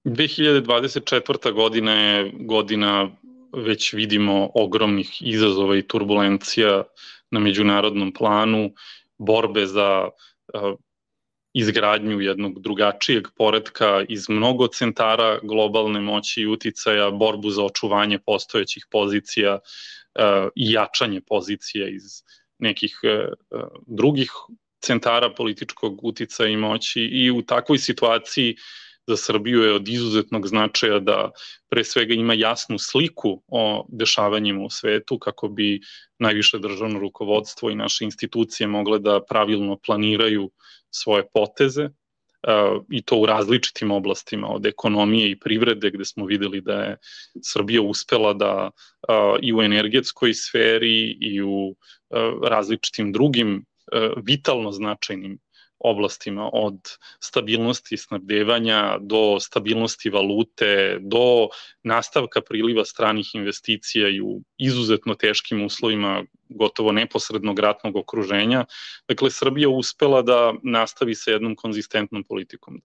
2024. godina je godina, već vidimo, ogromnih izazova i turbulencija na međunarodnom planu, borbe za izgradnju jednog drugačijeg poretka iz mnogo centara globalne moći i uticaja, borbu za očuvanje postojećih pozicija i jačanje pozicija iz nekih drugih centara političkog uticaja i moći, i u takvoj situaciji za Srbiju je od izuzetnog značaja da pre svega ima jasnu sliku o dešavanjima u svetu, kako bi najviše državno rukovodstvo i naše institucije mogle da pravilno planiraju svoje poteze, i to u različitim oblastima, od ekonomije i privrede, gde smo videli da je Srbija uspela da i u energetskoj sferi i u različitim drugim vitalno značajnim oblastima, od stabilnosti snabdevanja do stabilnosti valute, do nastavka priliva stranih investicija i u izuzetno teškim uslovima gotovo neposrednog ratnog okruženja. Dakle, Srbija uspela da nastavi sa jednom konzistentnom politikom.